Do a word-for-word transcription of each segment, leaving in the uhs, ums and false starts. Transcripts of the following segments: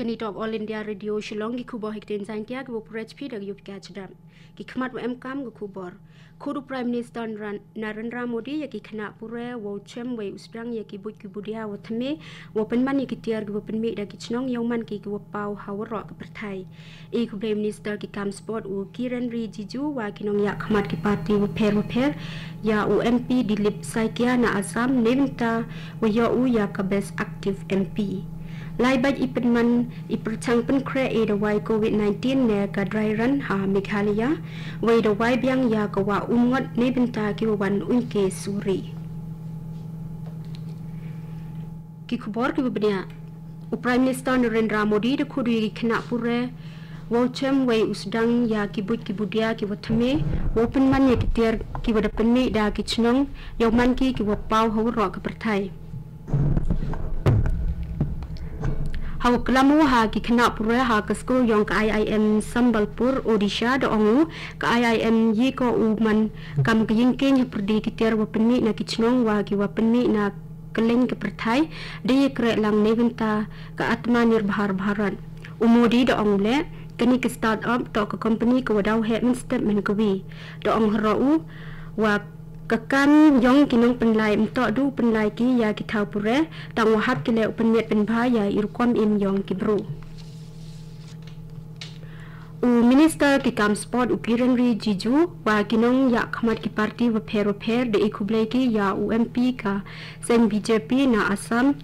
Kani toh ka All India Radio Shillong, ki khubor ha ktien Jaiñtia, kiba pule da u Pika Chadap. Ki khmat wa emkam ka khubor. Khuid u Prime Minister Naran-, Narendra Modi ïa ki khynnah pule wow chem wei u sdang ïa ki buit ki budia wa thymme, wow pynman ïa ki tiar kiwa pynmih da ki chnong, yow man ki kiwa paw ha waroh ka pyrthai. E khublei Minister ki kam sport u Kiren Rijiju wa ki nongïakhmat ki party wapher wapher, ïa u M P Dilip Saikia na Assam, neibynta wa ïoh u ïa ka Best Active M P. Lai bad i pynman i pyrchang pynkhreh i dawai covid nineteen ne ka dry run ha Meghalaya, wei dawai biang ïa ka wah umngot neibynta kiwa wan uiñke suri. Ki khubor kiwa bniah. U Prime Minister Narendra Modi da khuid u ïa ki khynnah pule wow chem wei u sdang ïa ki buit ki budia kiwa thymme, wow pynman ïa ki tiar kiwa da pynmih da ki chnong, yow man ki kiwa paw ha waroh ka pyrthai. Hawa klam u ha ki khynnah pule ha ka skul yong ka I I M Sambalpur, Odisha, da ong u, ka I I M ïa ko u man kam ka ïingkieñ hapyrdi ki tiar wa pynmih na ki chnong wa kiwa pynmih na kylleng ka pyrthai, da ïakreh lang neibynta ka Atmanirbhar Bharat. U Modi da ong u leh, kani ka start-up toh ka company kawa daw heh mynstep mynkawi. Da ong haroh u, wa ka kam yong ki nongpynlai ym toh du pynlai ki ïa ki thaw pule, tang wa hap ki leh u pynmiat pynbha ïa i rukom im yong ki bru. U Minister ki kam sport u Kiren Rijiju wa ki nongïakhmat ki party wapher wapher da e khublei ki ïa u M P ka seng B J P na Assam,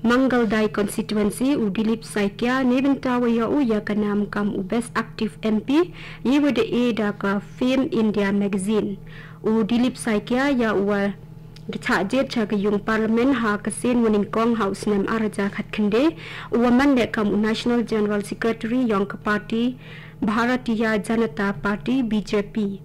Mangaldai constituency, u Dilip Saikia, neibynta wa ïoh u ïa ka nam kam u Best Active M P, ïa wa da e da ka Fame India Magazine. U Dilip Saikia ïa u wa da chah jied cha ka yung Parliament ha ka sien wa nyngkong ha u snem ar hajar khatkhynde, u wa man leh kam u National General Secretary yong ka party Bharatiya Janata Party, B J P.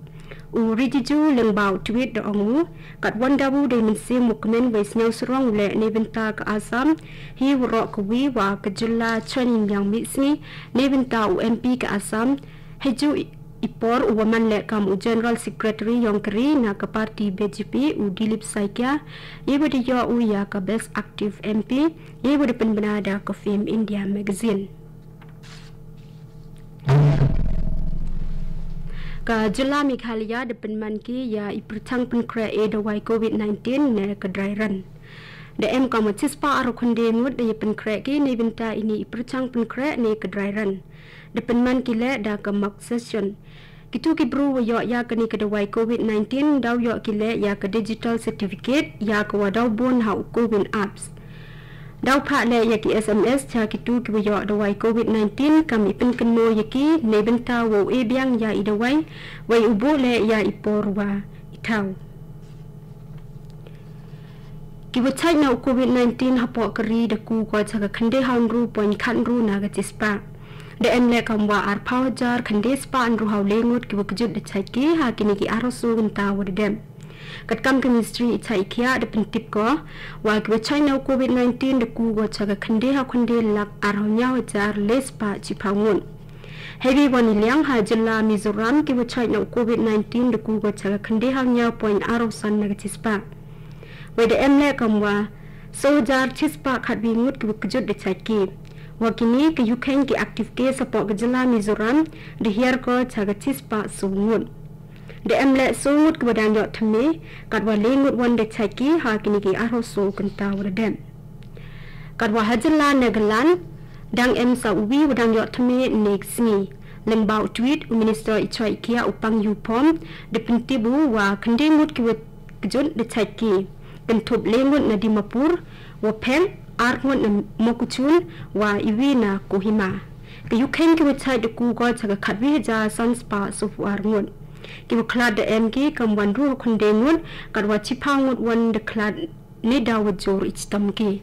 U Rijiju lyngba u tweet da ong u, kat wan da u dei mynsiem wa kmen wei sngewsarong u leh neibynta ka Assam, hi waroh kawi wa ka jylla chon ïing yang mihsngi, neibynta u M P ka Assam, heiju i, i por u wa man leh kam u General Secretary yong ka ri na ka party B J P u Dilip Saikia, ïa wa da ïoh u ïa ka Best Active M P, ïa wa da pynbna da ka Fame India Magazine. Ka jylla Meghalaya da pynman ki ïa i pyrchang pynkhreh i dawai covid nineteen ne ka dry run. Da em kam chispah arphew khynde ngut da ïa pynkhreh ki neibynta ini i pyrchang pynkhreh ne ka dry run. Da pynman ki leh da ka mock session. Kitu ki bru wa ïoh ïa kani ka dawai covid nineteen daw ïoh ki leh ïa ka digital certificate ïa ka wa daw bun ha u Covid Apps. Daw phah leh ïa ki S M S cha kitu ki wa ïoh dawai covid nineteen kam i pynkynmaw ïa ki neibynta wow e biang ïa i dawai, wei u buh leh ïa i por wa i thaw. Ki wa chait na u covid nineteen hapoh ka ri da ku ko cha ka khynde haw ynru point khat ynru na ka chispah. Da em leh kam wa arphew hajar khynde spah ynru haw le ngut ki wa kjut da chait ki ha kini ki arphew saw kynta wa da dep. Katkam ka ministry i chait i khiah da pyntip ko, wa ki wa chait na u covid nineteen da ku ko cha ka khynde haw khynde lak arphew hynñiew hajar le spah chiphew ngut. Hei wi wan i liang ha jylla Mizoram ki wa chait na u covid nineteen da ku ko cha ka khynde haw hynñiew point arphew san na ka chispah. Wei da em leh kam wa saw hajar chispah khatwi ngut ki wa kjut da chait ki. Wa kini ka ïukheiñ ki active case hapoh ka jylla Mizoram da hiar ko cha ka chispah saw ngut. Da em leh saw ngut ki wa dang ïoh thymme, kat wa le ngut wan da chait ki ha kini ki arphew saw kynta wa da dep. Kat wa ha jylla Nagaland, dang em sa u wi wa dang ïoh thymme ne ka sngi. Lyngba u tweet, u minister i chait i khiah u Pang Yu Pom, da pyntip u wa khynde ngut ki wa kjut da chait ki. Kynthup le ngut na Dimapur, wa pher, ar ngut na Mokokchung, wa i wi na Kohima. Ka ïukheiñ ki wa chait da ku ko cha ka khatwi hajar san spah saw phew ar ngut. Ki wa khlad da em ki kam wan ru ha khynde ngut, kat wa chiphew ngut wan da khlad ne daw wa jur i chitom ki.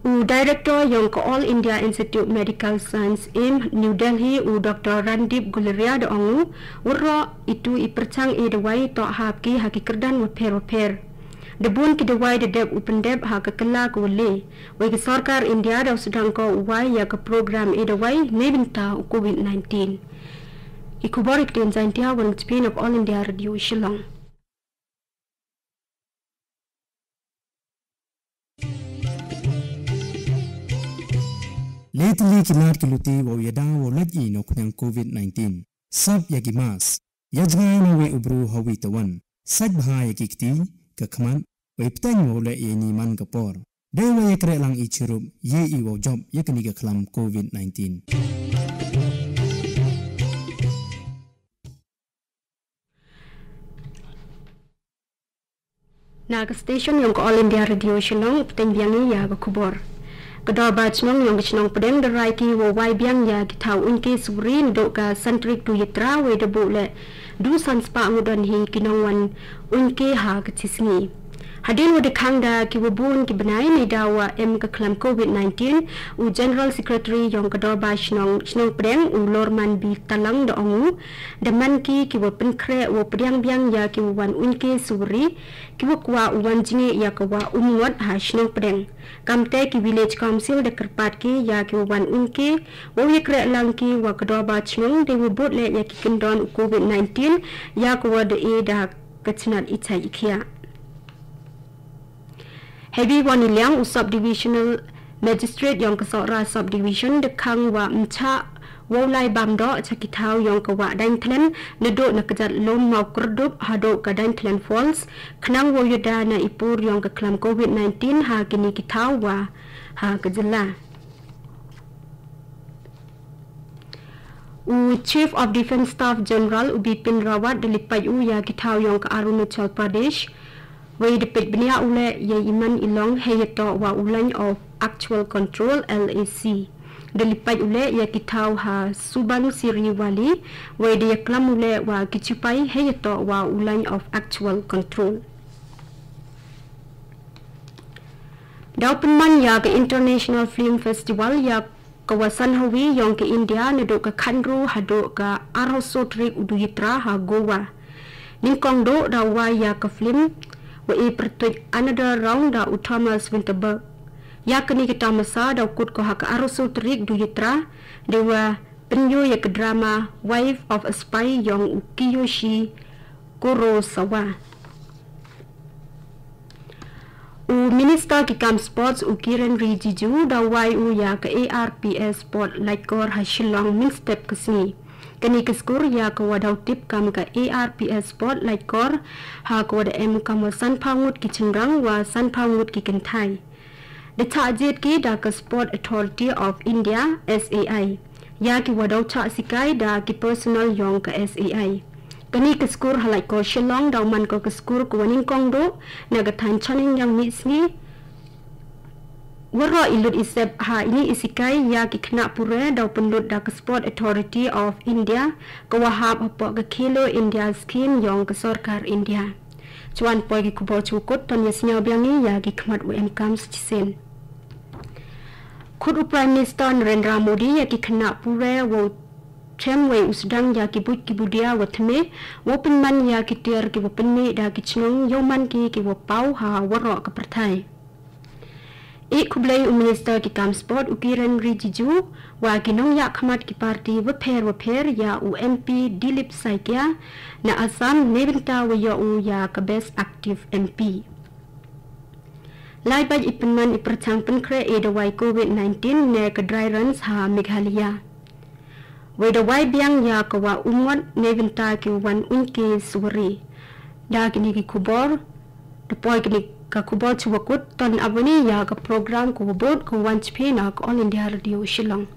U Director yong ka All India Institute Medical Science AIIMS New Delhi, u Doctor Randeep Guleria da ong u, waroh itu i pyrchang i dawai toh hap ki ha ki kyrdan wa pher wa pher. Da bun ki dawai da dep u pyndep ha ka kylla ka wa le. Wei ka sorkar India daw sdang ko u wai ïa ka program i dawai neibynta u covid nineteen. I khubor i ktien Jaiñtia wan ka chipin of All India Radio Shillong. Le tylli ki lad ki luti wow ïada wow lait i na u khñiang covid nineteen. Sap ïa ki mask. Ïa jngai na uwei u bru ha uwei u tawan. Sait bha ïa ki kti, ka khmat, wei pteng wow leh ïa ini man ka por. Dei wa ïa kreh lang i chirup, ïa i wow jop ïa kani ka khlam covid nineteen. Na ka station yong ka All India Radio Shillong, pteng biang ïa ka khubor. Ka dorbar chnong yong ka chnong Pdeng da rai ki wow wai biang ïa ki thaw uiñke suwari naduh ka san tarik Duitara wei da buh leh du san spah ngut don hi ki nongwan uiñke ha ka chisngi. Hadien wa da khang da ki wa bun ki bnai ne da wa em ka khlam covid nineteen, u General Secretary yong ka dorbar chnong, chnong Pdeng, u Lorman B Talang da ong u, da man ki ki wa pynkhreh wow pdiang biang ïa ki wa wan uiñke suwari, ki wa kwah u wan jngi ïa ka wa um ngot ha chnong Pdeng. Kamte ki Village Council da kyrpad ki ïa ki wa wan uiñke, wow ïa kreh lang ki wa ka dorbar chnong, dei wa bud leh ïa ki kyndon u covid nineteen, ïa ka wa da e da ka chnat i chai i khiah. Hebi Waniliang u Subdivisional Magistrate yong ka Sohra Subdivision da khang wa mcha wow lai bam doh cha ki thaw yong ka wa dain thlen naduh na ka jat lum Mawkyrdup haduh ka dain thlen Falls, khnang wow ïada na i pur yong ka khlam covid nineteen ha kini ki thaw wa ha ka jylla. U Chief of Defence Staff General u Bipin Rawat da lipait u ïa ki thaw yong ka Arunachal Pradesh, wei da peit bniah u leh ïa i man i long hei ïa toh wa u Line of Actual Control, L A C. Da lipait u leh ïa ki thaw ha Subansiri Valley, wei da ïa klam u leh wa ki chipai hei ïa toh wa u Line of Actual Control. Daw pynman ïa ka International Film Festival ïa ka wa san hawi yong ka India naduh ka khandru haduh ka arhaw so tarik u Duitara ha Goa. Nyngkong duh daw wai ïa ka film wa i pyrtuit Another Round da u Thomas Vinterberg. Ïa kani ka tamasa daw kut ko ha ka arhaw so tarik Duitara, dei wa pynïoh ïa ka drama Wife of a Spy yong u Kiyoshi Kurosawa. U Minister ki kam sports u Kiren Rijiju da wai u ïa ka A R P S Sport Laitkor ha Shillong mynstep ka sngi. Kani ka skur ïa ka wa daw tip kam ka A R P S Sport Laitkor, ha ka wa da em kam wa san phaw ngut ki chynrang wa san phaw ngut ki kynthai. Da chah jied ki da ka Sport Authority of India, S A I. Ïa ki wa daw chah sikai da ki personnel yong ka S A I. Kani ka skur ha Laitkor Shillong daw man ko ka skur ka wa nyngkong duh na ka thaiñ Chaneng Yang Mihsngi. Waroh i lut i sep ha ini i sikai ïa ki khynnah pure daw pynlut da ka Sport Authority of India, ka wa hap hapoh ka Khelo India Scheme yong ka sorkar India. Chwa poi ki khubor chukut, ton ïa sñiaw biang i ïa ki khmat wa em kam sa chisien. Khut u Prime Minister Narendra Modi ïa ki khynnah pure wow chem wei u sdang ïa ki buit ki budia wa thymme, wow pynman ïa ki tiar ki wa pynmih da ki chnong, yow man ki ki wa paw ha waroh ka pyrthai. I khublei u Minister ki kam sport u Kiren Rijiju wa ki nongïakhmat ki party wapher wapher ïa u M P Dilip Saikia na Assam, ne bynta wa ïoh u ïa ka Best Active M P. Lai bad i pynman i pyrchang pynkhreh i dawai covid nineteen ne ka dry runs ha Meghalaya. Wei dawai biang ïa ka wa umngot ne bynta ki wan uiñke suwari. Da kini ki khubor, da poi kini ka khubor chuwa kut, ton ap wan i ïa ka program ka wa bud ka wan chphi na ka All India Radio Shillong.